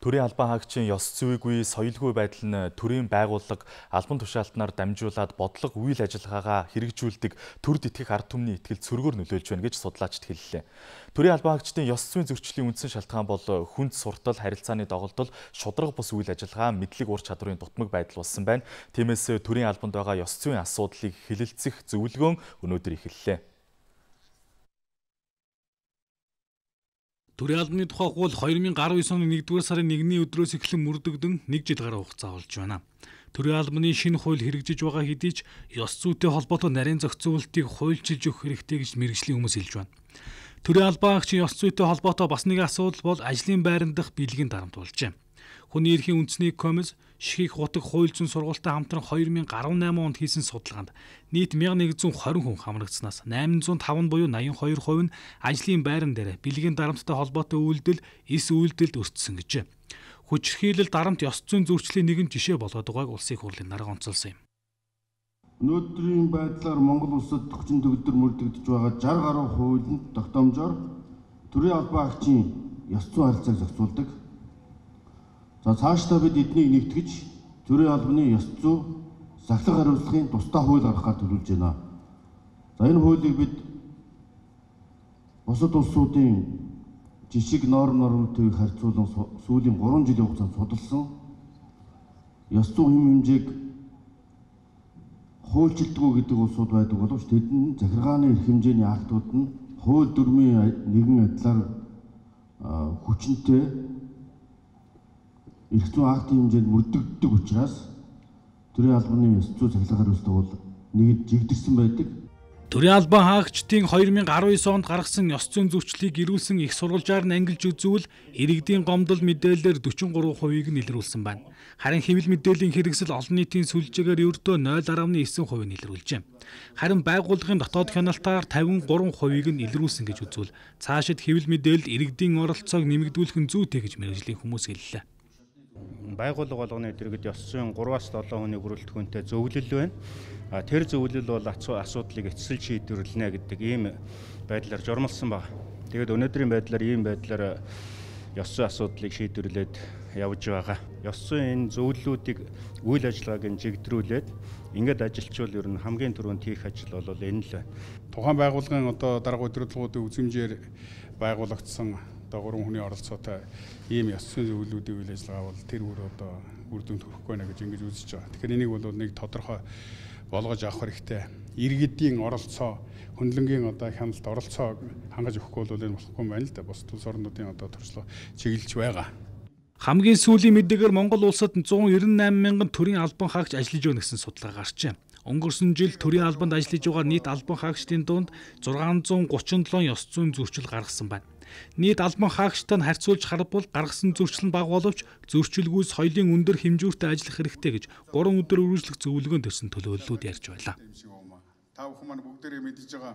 Төрийн албан хаагчийн ёс зүйгүй, соёлгүй байдал нь төрийн байгууллага албан тушаалтнаар дамжуулаад бодлого үйл ажиллагаагаа хэрэгжүүлдэг төрд итгэх ард түмний итгэл цөргөөр нөлөөлж байна гэж судлаачид хэллээ. Төрийн албан хаагчдын ёс зүйн зөрчлийн үндсэн шалтгаан бол хүнд суртал, харилцааны доголдол, шударга бус үйл ажиллагаа, мэдлэг ур чадварын дутмаг байдал болсон байна. Тиймээс төрийн албанд байгаа ёс зүйн асуудлыг хэлэлцэх зөвлөгөөн өнөөдөр эхэллээ. Төрийн албаны тухай хууль 2019 оны 1-р сарын 1-ний өдрөөс эхлэн мөрдөгдөн 1 жил гаруй хугацаа болж байна. Төрийн албаны шинэ хууль хэрэгжиж байгаа хэдий ч ёс зүйтэй холбоотой нарийн зохицуултыг хуульчилж өгөх хэрэгтэй гэж мэргэжлийн хүмүүс хэлж байна. Төрийн албан хаагчийн ёс зүйтэй холбоотой бас нэг асуудал бол ажлын байран дахь бэлгийн дарамт болжээ. Хүний эрхийн үндэсний комисс Шихийг хутаг хууль зүйн сургуультай хамтран 2018 онд хийсэн судалгаанд нийт 1120 хүн хамрагдсанаас 805 буюу 82% нь ажлын байран дээр бэлгийн дарамттай холбоотой үйлдэл, эс үйлдэлд өртсөн гэжээ. Хүчирхийлэл дарамт ёс зүйн зөрчлийн нэгэн жишээ болоод байгааг улсын хурлын дарга онцолсон юм. Өнөөдрийн байдлаар Монгол улсад төгжин төгөлдөр мөрдөгдөж байгаа 60 гаруй хуулийн тогтоомжоор төрийн албан хаагчийн ёс зүйн харилцааг зохицуулдаг. За цаашдаа бид эднийг нэгтгэж төрийн албаны ёс зүй сахилга хариуцлагын тусдаа хууль гаргахаар төлөвлөж байна. За энэ хуулийг бид бусад улсуудын жишг нормуудыг харьцуулан сүүлийн 3 жилийн хугацаанд судалсан. Ёс зүйн хэм хэмжээг хуульчилдаггүй гэдэг улсууд байдаг боловч тэдний захиргааны эрх хэмжээний актууд нь хууль дүрмийн нэгэн адилаар хүчинтэй эрх зүйн актын хэмжээнд мөрдөгддөг учраас төрийн албаны ёс зүй сахилга хариуцлага бол нэгд жигдэрсэн байдаг. Төрийн албан хаагчдын 2019 онд гаргасан ёс зүйн зөрчлийг ирүүлсэн их сурвалжаар нь ангилж үзвэл иргэдийн гомдол мэдээлэлээр 43%-ийг нь илрүүлсэн байна. Харин хэвлэл мэдээллийн хэрэгсэл олон нийтийн сүлжээгээр ердөө 0.9% нь илрүүлжээ. Харин байгууллагын дотоод хяналтаар 53%-ийг нь илрүүлсэн гэж үзвэл цаашид хэвлэл мэдээлэлд иргэдийн оролцоог нэмэгдүүлэх нь зүйтэй гэж мэргэжлийн хүмүүс хэллээ. Байгууллага болгоны дэргэд ёс зүйн 3-аас 7 хүний бүрэлдэхүүнтэй зөвлөл байна. Тэр зөвлөл бол асуудлыг эцсэл шийдвэрлэнэ гэдэг ийм байдлаар журмалсан байна. Тэгээд өнөөдрийн байдлаар ийм байдлаар ёс зүйн асуудлыг шийдвэрлээд явж байгаа. Ёс зүйн энэ зөвлөлүүдийг үйл ажиллагааг жигдрүүлээд ингээд ажилчвал ер нь хамгийн түрүүнд хийх ажил бол энэ л байна. Тухайн байгууллагын дарга удирдлагуудын үзмжээр байгуулагдсан 3 хүний оролцоотой ийм ёс зүйн зөвлөлүүдийн үйл ажиллагаа бол тэр үр дүнд хүрэхгүй байна гэж ингэж үзэж байгаа. Тэгэхээр энийг бол нэг тодорхой болгож авах хэрэгтэй. Иргэдийн оролцоо, хөндлөнгийн хяналт оролцоог хангаж өгөхгүй бол энэ болохгүй юм байна л да. Бусад улс орнуудын туршлага чиглэж байгаа. Хамгийн сүүлийн мэдээгээр Монгол улсад 198 мянган төрийн албан хаагч ажиллаж байна гэсэн судалгаа гарчээ. Өнгөрсөн жил төрийн албанд ажиллаж байгаа нийт албан хаагчдын дунд 637 ёс зүйн зөрчил гаргасан байна. Нийт албан хаагчтай нь харьцуулж харбал гаргасан зөрчил нь бага боловч зөрчилгүй соёлын өндөр хэмжүүртэй ажиллах хэрэгтэй гэж 3 өдөр үргэлжлэх зөвлөгөөнд төрсэн төлөөллүүд ярьж байлаа. Та бүхэн маань бүгдээрээ мэдж байгаа